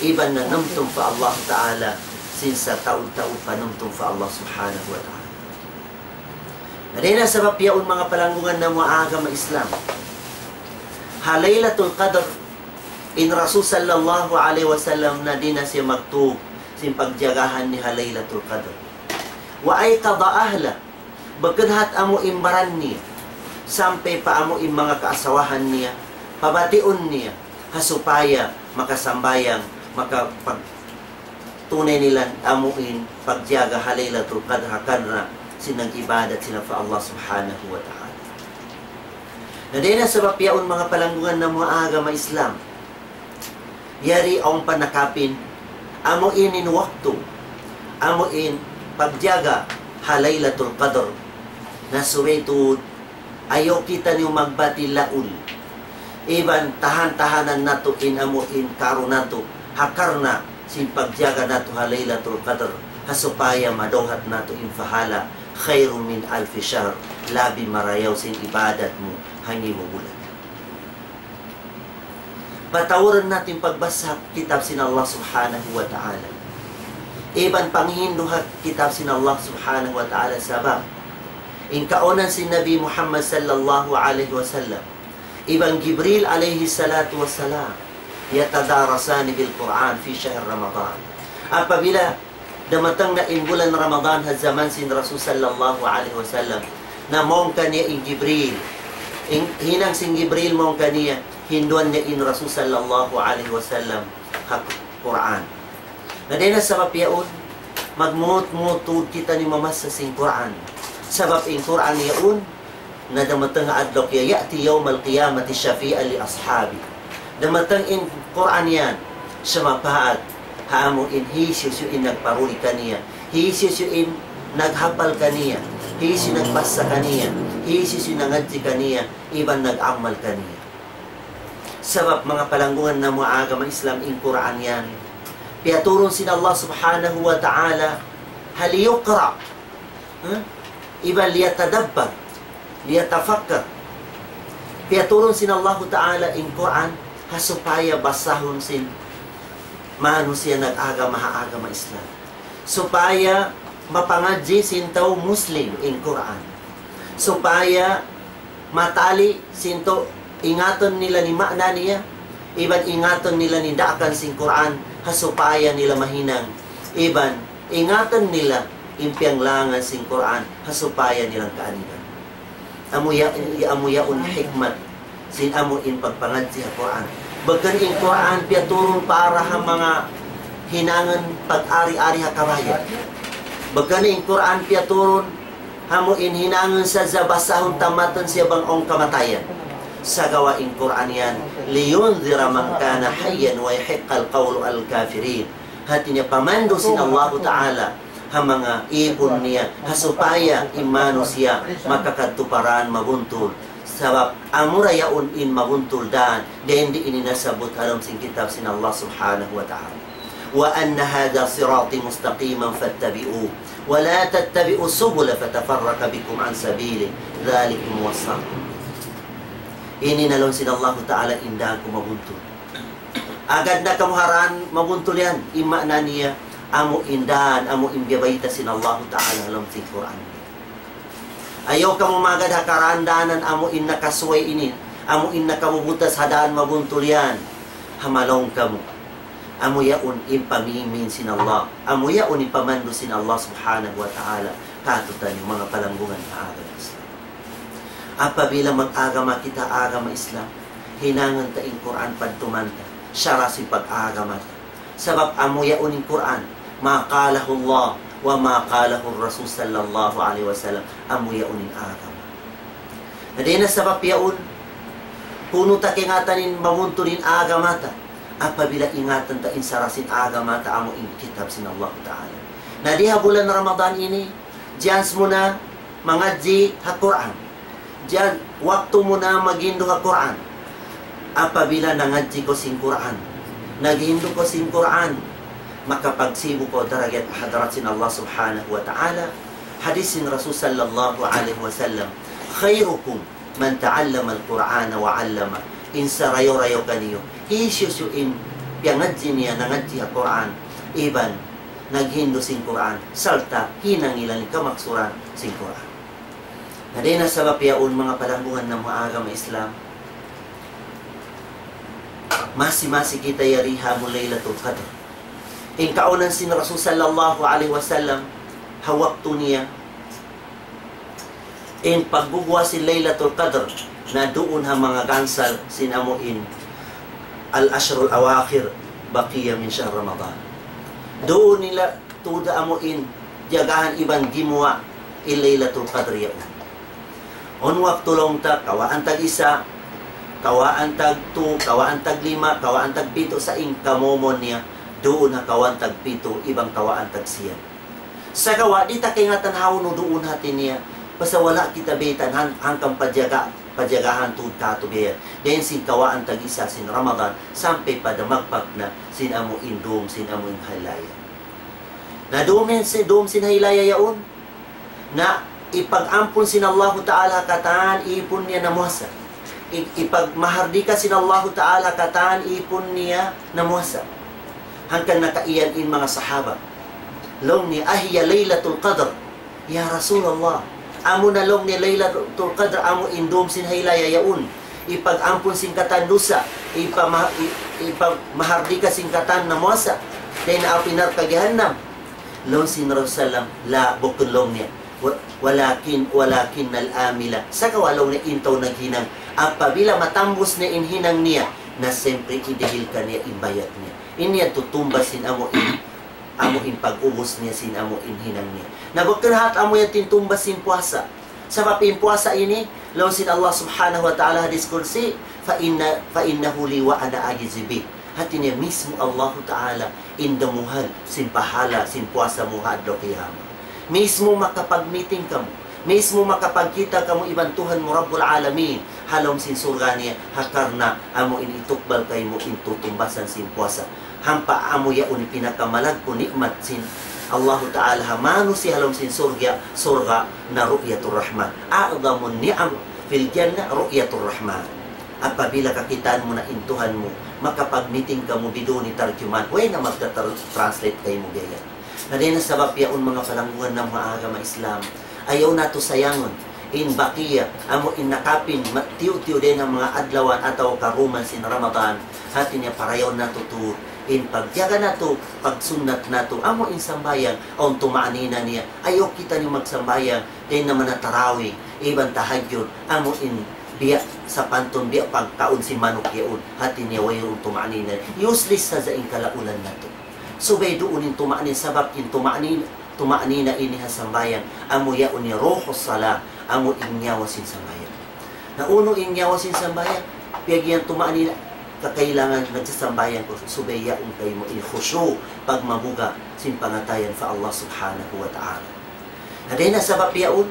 iban nanumtum pa Allah Ta'ala, sin sataud-taud panumtum pa Allah Subhanahu wa Ta'ala. Na dayn ha sabab yaun manga palanggungan namu' ha agama Islam. Ha Laylatul Qadr, in Rasul sallallahu alayhi wasallam na di' na siya magtug sin pagjagahan niya ha Laylatul Qadr. وأيقظ أهله, bukun hat amu in baran niya, sampay pa amu in manga kaasawahan niya, pabatiun niya, ha supaya makasambahayang, makapag-, tunay nila amu in pagjaga ha Laylatul Qadr ha karna' sin nag-ibadat sila pa Allah Subhanahu wa Ta'ala. Na dayn ha sabab yaun manga palanggungan namu' ha agama Islam. Yari awn pa nakapin, amu in in waktu, amu in pagjaga ha Laylatul Qadr. Na subay tuud, ayaw kitaniyu magbati laul. Iban tahan-tahanan natu' in amu in karu natu', ha karna' sin pagjaga natu' ha Laylatul Qadr, ha supaya madawhat natu' in pahala, خير من ألف شهر, labi marayaw sin ibadat mu ha ngibu bulan. Patauran natu' in pagbasa kitab sin Allah Subhanahu wa Ta'ala. Iban panghindu' ha kitab sin Allah Subhanahu wa Ta'ala sabab in kaunan sin Nabi Muhammad sallallahu alayhi wasallam iban Jibril alayhi salatu wassalam, يتدارسان بالقرآن في شهر رمضان. Apabila damatang na in bulan Ramadan ha jaman sin Rasul sallallahu alayhi wasallam, na mawn kaniya in Jibril. In, hinang sin Jibril mawn kaniya, hinduan niya in Rasul sallallahu alayhi wasallam ha Qur'an. Na dayn ha sabab yaun, magmuut-muut tuud kitaniyu mamassa sin Qur'an. Sabab in Qur'an yaun, na damatang adlaw kiya, يأتي يوم القيامة شفيعا لأصحابه. Damatang in Qur'an yan, siyapaat ha amu in hisiyu-siyu in nagparuli kaniya, hisiyu-siyu in naghapal kaniya, hisiyu nagbasa kaniya, hisiyu-siyu nangadji' kaniya, iban nag-amal kaniya. Sabab manga palanggungan namu' agama Islam, in Qur'an yan, piyaturun sin Allah Subhanahu wa Ta'ala, ha liyuqra', ha? Iban liyatadabbar, liyatafakkar. Piyaturun sin Allahu Ta'ala in Qur'an, ha supaya basahun sin manusiya' nag-agama ha agama Islam. Supaya mapangadji' sin tau Muslim in Qur'an. Supaya matali sin tau, ingatan nila in maana niya, iban ingatan nila in daakan sin Qur'an, ha supaya nila mahinang, iban ingatan nila in piyanglangan sin Qur'an, ha supaya nila kaaniban. Amu ya, amu yaun hikmat sin amu in pagpangadji' ha Qur'an. Bukun in Qur'an piyaturun para ha manga hinangun pag-ari-ari ha kabayan. Bukun in Qur'an piyaturun ha amu in hinangun sadja basahun tamatun siya bang awn kamatayan. Sagawa' in Qur'an yan, لينذر من كان حيا ويحق القول على الكافرين. Hati niya pamandu' sin Allahu Ta'ala ha manga īpun niya, ha supaya in manusiya' makakadtu pa dān mabuntul. Sabab amura yaun in mabuntul dān, dayn di ini nasabbut ha lawm sin kitab sin Allah Subhanahu wa Ta'ala. وأن هذا صراطي مستقيما فاتبعوه ولا تتبعوا السبل فتفرق بكم عن سبيله ذلكم وصاكم به. Ini na laung sin Allahu Ta'ala in dān ku mabuntul. Agad na kamu ha dān mabuntul yan, in maana niya, amu in dān, amu in biyabayta' sin Allahu Ta'ala ha lawm sin Qur'an. Ayaw kamu magad ha karān-dānan amu in nakasuway ini, amu in nakabubutas ha dān mabuntul yan. Hamalaung kamu. Amu yaun in pamīmin sin Allah. Amu yaun in pamandu' sin Allah Subhanahu wa Ta'ala kātu'niyu manga palanggungan ha agama Islam. Apabila mag-agama kita agama Islam, hinangun ta in Qur'an padtuman ta, sara' sin pag-agama ta. Sabab amu yaun in Qur'an, ما قاله الله وما قاله الرسول صلى الله عليه وسلم, amu yaun in agama. Na dayn ha sabab yaun, kunu' ta kaingatan in mabuntul in agama ta, apabila ingatan ta in sara' sin agama ta amu in kitab sin Allah Ta'ala. Na di ha bulan Ramadan ini, chance mu na mangadji' ha Qur'an. Chance, waktu mu na maghindu' ha Qur'an. Apabila nangadji' kaw sin Qur'an, naghindu' kaw sin Qur'an, makapagsibu' kaw darajat ha hadarat sin Allah Subhanahu wa Ta'ala. Hadis sin Rasul sallallahu alayhi wasallam, خيركم من تعلم القرآن وعلمه. In sarayaw-rayaw kaniyu, hisiyu-siyu in piyangadji' niya, nangadji' ha Qur'an, iban naghindu' sin Qur'an, sarta' hinangilan in kamaksuran sin Qur'an. Na dayn ha sabab yaun manga palanggungan namu' agama Islam, masi-masi kita yari ha amu Laylatul Qadr. In kaunan sin Rasul sallallahu alayhi wasallam, ha waktu niya, in pagguwa' sin Laylatul Qadr, na duun ha manga gansal sin amu in العشر الأواخر بقية من شهر رمضان. Duun nila tuud amu in jagahan iban gimuwa' in Laylatul Qadr yaun. Awn waktu laung ta, kawhaan tag isa, kawhaan tag tu, kawhaan tag lima, kawhaan tag pitu, sa' in kamumon niya, duun ha kawhaan tag pitu, iban kawhaan tag siyam. Sagawa' di' ta kaingatan hawnu duun hati niya, pasal wala' kita baytaan hangkan pajaga, pajagahan tuud katu' biya' yan. Dayn sin kawaan tag-isa sin Ramadan, sampay pa damagpak na sin amu in dum, sin amu in haylaya. Na dum in, si, dum sin haylaya yaun, na ipag-ampun sin Allahu Ta'ala katan ipun niya namuasa. I, ipagmahardika sin Allahu Ta'ala katan ipun niya namuasa. Hangkan nakaiyan in manga sahaba. Laung niya, "Ahiya Laylatul Qadr, ya Rasulullah?" Amu na laung niya Laylatul Qadr, amu in dum sin haylaya yaun. Ipag-ampun sin katan dusa, ipama-, i, ipagmahardika sin katan namuasa. Dayn ha api narka' jahannam. Laung sin Rasul sallam, "La, bukun," laung niya. "Wa-, walakin, walakin al-amila." Sagawa' laung niya in tau naghinang. Apabila matambus niya in hinang niya, na siyempre idihil kaniya in bayad niya. Ini yadtu tumbas sin amu in, amu in pag-ubus niya sin amu in hinang niya. Na bukun hat amu yadtu in tumbas sin puasa. Sabab in puasa ini, laung sin Allah Subhanahu wa Ta'ala hadis Qudsi, "Fa inna, fa innahu li wa ana ajzi bih." Hati niya mismu Allahu Ta'ala in damuhal sin pahala sin puasa mu ha adlaw qiyamah. Mismu makapag-meeting kamu, mismu makapagkita' kamu iban Tuhan mu Rabbul Alamin ha lawm sin surga' niya, ha karna' amu in itukbal kaymu in tutumbasan sin puasa. Hampa amu yaun in pinakamalaggu' ni'mat sin Allahu Ta'ala ha manusiya' ha lawm sin surga', surga' na ru'yatur Rahman. A'zamun ni'am fil jannah ru'yatur Rahman. Apabila kakitaan mu na in Tuhan mu, makapag-meeting kamu biduni tarjuman, way na magta-translate kaymu biya' yan. Na dayn ha sabab yaun manga palanggungan namu' ha agama Islam, ayaw natu' sayangun in bakiya, amu in nakapin, ma-, tiyu'-tiyu' dayn ha manga adlawan atawa karuman sin Ramadan, hati niya parayaw natu' tuud in pagjaga natu', pagsunnat natu', amu in sambahayang, awn tuma'nina niya, ayaw kitaniyu magsambahayang, dayn ha manga tarawih, iban tahajjud, amu in biya' sapantun, biya' pagkaun sin manuk yaun, hati niya wayruun tuma'nina, useless sadja in kalaulan natu'. Subay duun in tuma'nina, sabab in tuma'nina, tuma'nina ini ha sambahayang, amu yaun in ruhus salah, amu in nyawa sin sambahayang. Na unu in nyawa sin sambahayang, piyag'iyan tuma'nina, kakailangan nagsasambahayang kaw, subay yaun kaymu in khushu', pagmabuga' sin pangatayan pa Allah Subhanahu wa Ta'ala. Na dayn ha sabab yaun,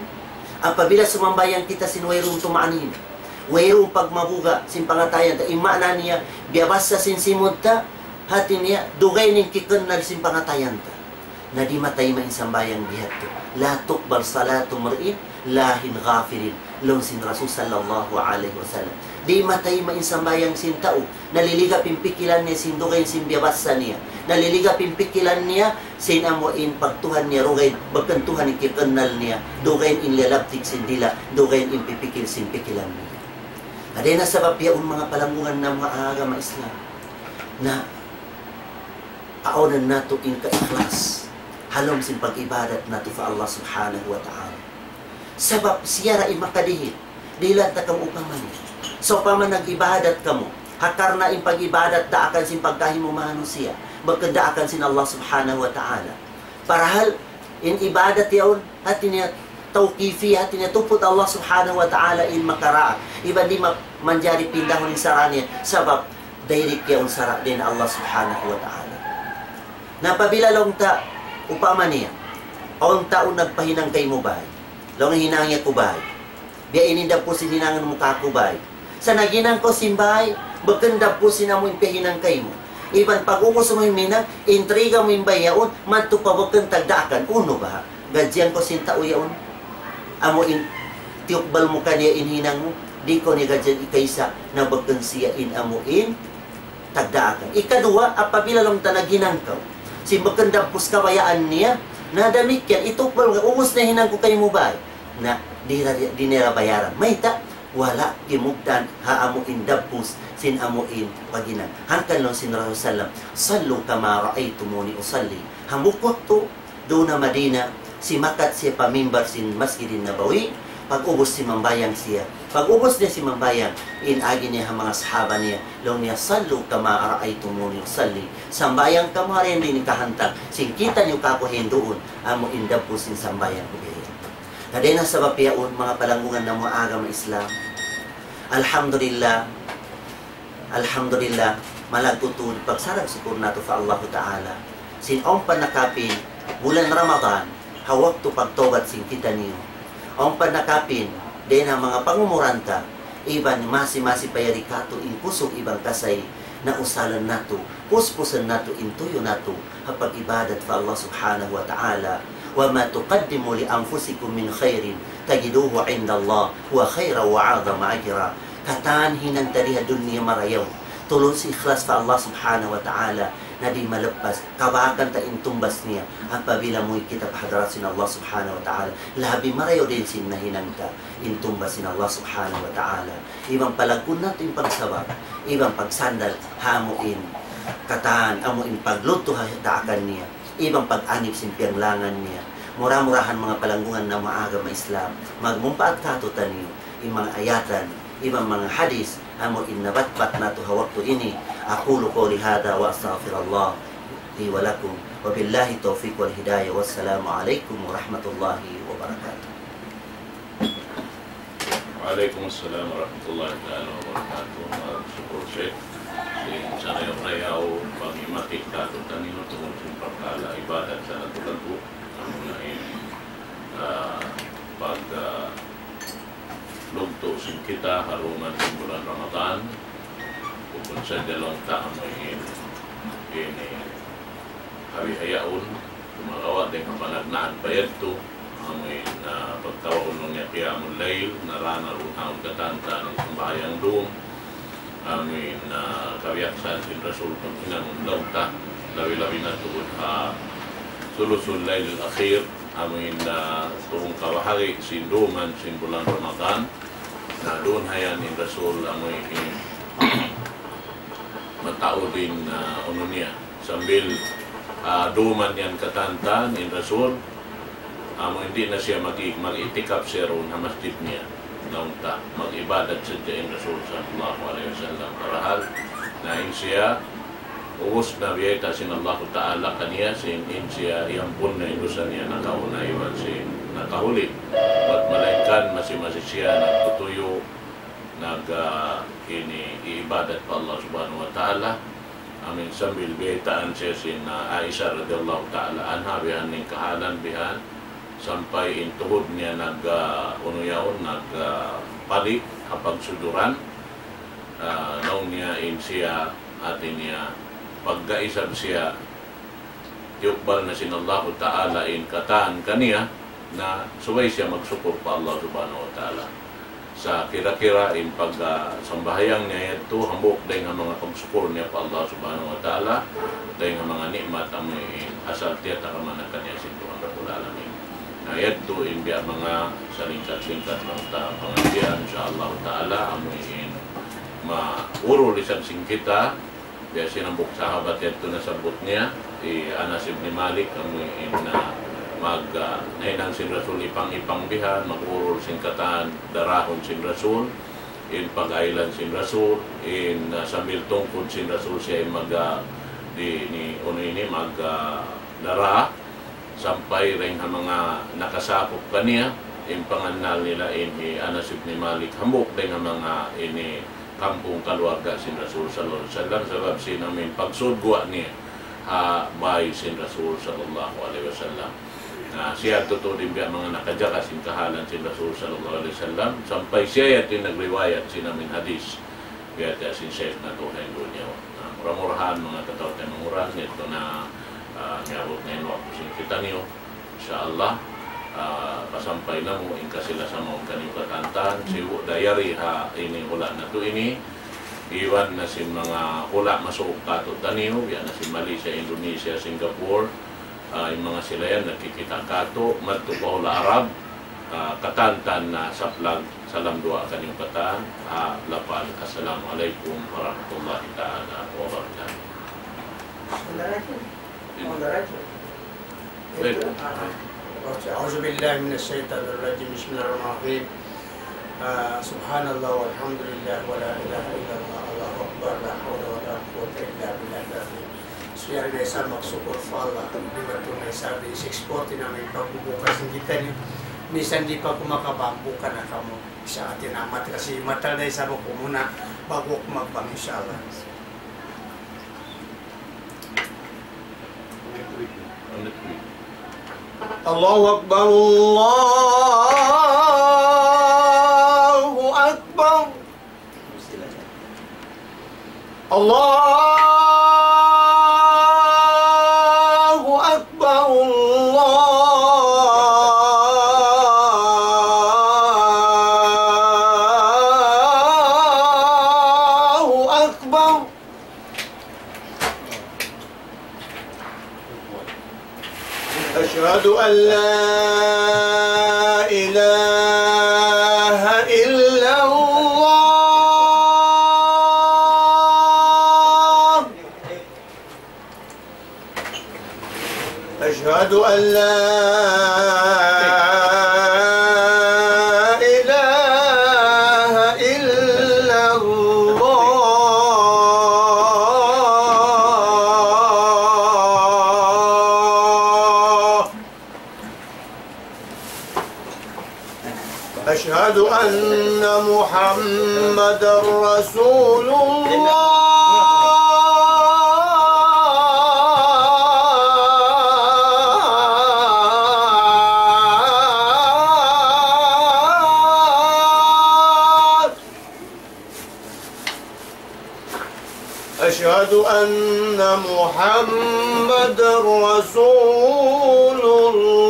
apabila sumambahayang kita sin wayruun tuma'nina, wayruun pagmabuga' sin pangatayan ta, in maana niya, biyabassa sin simud ta, hati niya, dugaing in kikennal sin pangatayan ta. Na di' matayma' in sambahayang biya' hādtu. لا تقبل صلاة امرئ لاهٍ غافل. Laung sin Rasul sallallahu alayhi wasallam. Di' matayma' in sambahayang sin tau. Naliligap in pikilan niya sin dugaing sin biyabassa niya. Naliligap in pikilan niya sin amu in pagtuhan niya dugaing, bukun Tuhan in kikennal niya. Dugaing in lalabtik sin dila', dugaing in pipikil sin pikilan niya. Na dayn ha sabab yaun manga palanggungan namu' ha agama Islam. Na Awn natu' in kaikhlas ha lawm sin pag-ibadat natu' pa Allah Subhanahu wa Ta'ala. Sabab siya ra in makadihil, dihilan ta kamu upama niya. Sawpama nag-ibadat kamu, ha karna' in pag-ibadat daakan sin pagkahi mu manusiya', bukun daakan sin Allah Subhanahu wa Ta'ala. Parahal in ibadat yaun, hati niya tawqifi, hati niya tuput Allah Subhanahu wa Ta'ala in makaraak. Iban di' ma-, manjari pindahun in sara' niya, sabab direct yaun sara' dayn Allah Subhanahu wa Ta'ala. Na apabila laung ta, upama niya, awn tau nagpahinang kaymu bāy. Laung hinang niya ku bāy. Biya' ini dagbus in hinangun mu kāku' bāy. Sa' naghinang kaw sin bāy, bukun dagbus in amu in piyahinang kaymu. Iban pag-ubus mu in hinang, intriga mu in bāy yaun, madtu pa bukun tagdaakan, unu baha'? Gadjian kaw sin tau yaun. Amu in tiyukbal mu kaniya in hinang mu, di' kaw niya gadjian ikaisa, na bukun siya in amu in tagdaakan. Ikaduwa, apabila laung ta naghinang kaw sin bukun dagbus kabayaan niya, na damikkiyan, itukbal mu, ubus na hinang ku kaymu bāy. Na, di' ra, di' niya bayaran. Mayta', wala' kimugdan ha amu in dagbus sin amu in paghinang. Hangkan laung sin Rasul sallam, صلوا كما رأيتموني أصلي. Hambuuk waktu, duun ha Madina, simakat siya pa mimbar sin Masjidin Nabawi, pag-ubus simambahayang siya. Pag-ubus niya simambahayang, in agi niya ha manga sahaba niya, laung niya, صلوا كما رأيتموني أصلي. Sambahayang kamu ha diin in kahantang, sin kita' niyu kāku' hinduun, amu in dagbus sin sambahayang ku biya' yan. Na dayn ha sabab yaun, manga palanggungan namu' ha agama Islam. Alhamdulillah, Alhamdulillah, malaggu' tuud pagsarang-sukur natu' pa Allahu Ta'ala. Sin awn pa nakapin bulan Ramadan, ha waktu pagtawbat sin kitaniyu. Awn pa nakapin, dayn ha manga pangumuran ta, iban masi-masi pa yari katu' in kusug iban kasay na usalan natu', puspusan natu' in tuyu' natu', ha pag-ibadat pa Allah Subhanahu wa Ta'ala. وما تقدموا لأنفسكم من خير تجدوه عند الله هو خيرا وأعظم أجرا. Katan hinang ta di ha dunya marayaw, tulus ikhlas pa Allah Subhanahu wa Ta'ala, na di' malappas, kabakan ta in tumbas niya, apabila muwi' kita pa hadarat sin Allah Subhanahu wa Ta'ala, labi marayaw dayn sin nahinang ta, in tumbas sin Allah Subhanahu wa Ta'ala. Iban palaggun natu' in pagsabab, iban pagsandal, ha amu in katan, amu in pagluttu ha daakan niya, iban pag-anib sin piyanglangan niya. Mura-murahan manga palanggungan namu' agama Islam, magmumpaat katu'taniyu, in manga ayatan, iban manga hadis, amu in nabatbat natu' ha waktu ini. أقول قولي هذا وأستغفر الله لي ولكم. وبالله التوفيق والهداية. والسلام عليكم ورحمة الله وبركاته. Wa alaykum assalam warahmatullahi ta'ala wabarakatuh. Magsukul, Sheikh. Sin sarayaw-rayaw pagmati katu'taniyu tungud sin parkala' ibadat sa laggu'-laggu'. Amuna in, ah, pag, ah, lugtu' sin kita ha dum sin bulan Ramadan. Bukun sadja laung ta amu in ini kabihaun, sumagawa' dayn ha panagnaan pa yadtu, amu in, ah, pagtawagun laung niya qiyamul layl, na daran duun ha katan-katan in sambahayang dum, amu in, ah, kabiyaksahan sin Rasul paghinangun laung ta, labi-labi na tuud ha sulusul laylil akhir, amu in, ah, tū kabahagi' sin duman sin bulan Ramadan, na duun ha yan in Rasul amu in mataud in, ah, unu niya. Sambil, ah, duman yan katan-katan in Rasul, amu in di' na siya mag-, mag-i'tikaf siya duun ha masjid niya. Laung ta, mag-ibadat sadja in Rasul sallallahu alayhi wasallam. Parahal, na in siya, ubus na biyayta' sin Allahu Ta'ala kaniya, sin in siya iyampun na in dusa niya nakauna iban sin nakahuli. Bat malaingkan masi-masi siya nagtutuyu', nag, ah, ini, iibadat pa Allah Subhanahu wa Ta'ala. Amu in sambil biyaytaan siya sin, ah, Aisha radiyallahu ta'ala anha, bihan in kahalan bihan, sampay in tuhud niya nag, ah, unu yaun, nag, ah, pali' ha pagsujuran, ah, laung niya in siya, hati niya, pagka isab siya, tiyukbal na sin Allahu Ta'ala in katan kaniya, na subay siya magsukur pa Allah Subhanahu wa Ta'ala. Sa' kira-kira in pag, ah, sambahayang niya yadtu, hambuuk dayn ha manga pagsukur niya pa Allah Subhanahu wa Ta'ala, dayn ha manga ni'mat amu in asal tiyatagama na kaniya sin Tuhan Rabbul Alamin. Na yadtu in biya' manga salingkat-lingkat laung ta pangadjian, insya Allah Ta'ala, amu in maurul isab sin kita, biya' sin hambuuk sahabat yadtu nasabbut niya, hi Anas ibn Malik, amu in, ah, mag, ah, nahinang sin Rasul ipang-ipang bihan, mag-urul sin katan darahun sin Rasul, in pag-aylan sin Rasul, in, ah, sambil tungkud sin Rasul siya in mag, ah, di, ni, unu ini, mag, ah, dara, sampay dayn ha manga nakasakup kaniya, in pangannal nila in hi Anas ibn Malik, hambuuk dayn ha manga ini kampung kaluarga sin Rasul sallallahu alayhi wasallam, sabab sin amu in pagsud guwa' niya ha bay sin Rasul sallallahu alayhi wasallam. Na siya tuud in biya' manga nakajaga sin kahalan sin Rasul sallallahu alayhi wasallam, sampay siya yadtu in nagriwayat sin amu in hadis. Biya' ta sin Sheikh natu' ha dunya. Na mura-murahan manga kataw-taymanghuran, yadtu na, ah, miyabut na in waktu sin kitaniyu. Insya Allah, ah, pasampay namu' in kasi-lasa mawn kaniyu katan-katan, sibu' da yari ha ini hula' natu' ini, iban na sin manga hula' masuuk katu'taniyu, biya' na sin Malaysia, Indonesia, Singapore, ah, in manga sila yan nagkikita' katu', madtu pa hula' Arab, ah, katan-katan na saplag, salam duwaa kaniyu katan, ah, lapal, Assalamu alaykum warahmatullahi ta'ala wabarakatuh. أعوذ بالله من الشيطان الرجيم. بسم الله الرحمن الرحيم. آه، سبحان الله والحمد لله ولا إله إلا الله، الله أكبر، لا حول ولا قوة إلا بالله العظيم. Siyari na isab magsukul pa Allah, di' ba tu na isab di' six forty na in pagbubuka sin kitaniyu. Misan di' pa kamu makabang, buka na kamu. Sa' atin amat kasi matal na isab aku muna, ba'gu aku magbang, insya Allah. الله أكبر، الله أكبر، الله أكبر، الله أكبر. أشهد أن لا إله إلا الله. أشهد أن لا إله إلا الله. أشهد أن محمدا رسول الله. أشهد أن محمدا رسول الله.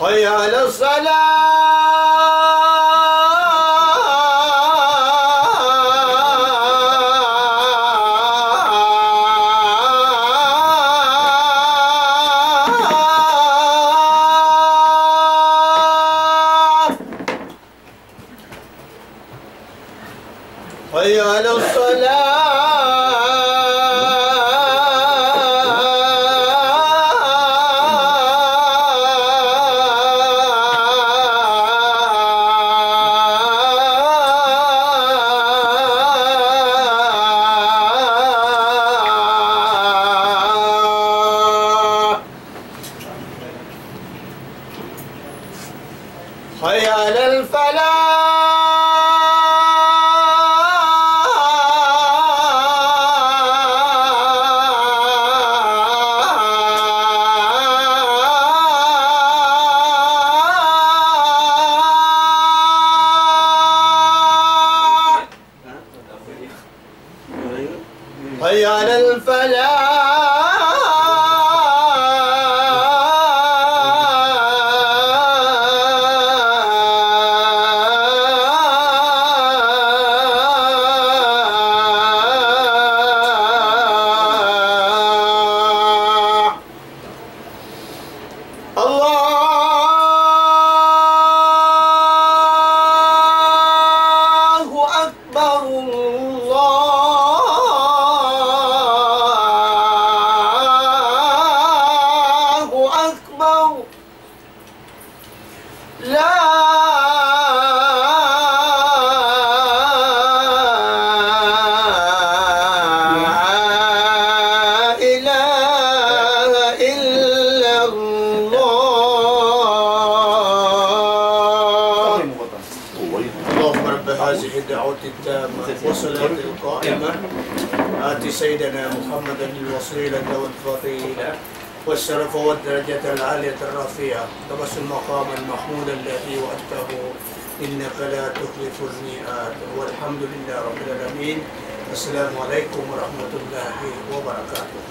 حي على الصلاة. حي على الصلاة. حي على الفلاح. حي على الفلاح. الله أكبر، الله أكبر. لا إله إلا الله. اللهم رب هذه الدعوة التامة والصلاة القائمة، آت سيدنا محمدا الوسيلة والفضيلة والشرف والدرجة العالية الرفيعة، وابعثه مقاما محمودا الذي وعدته، إنك لا تخلف الميعاد. والحمد لله رب العالمين. السلام عليكم ورحمة الله وبركاته.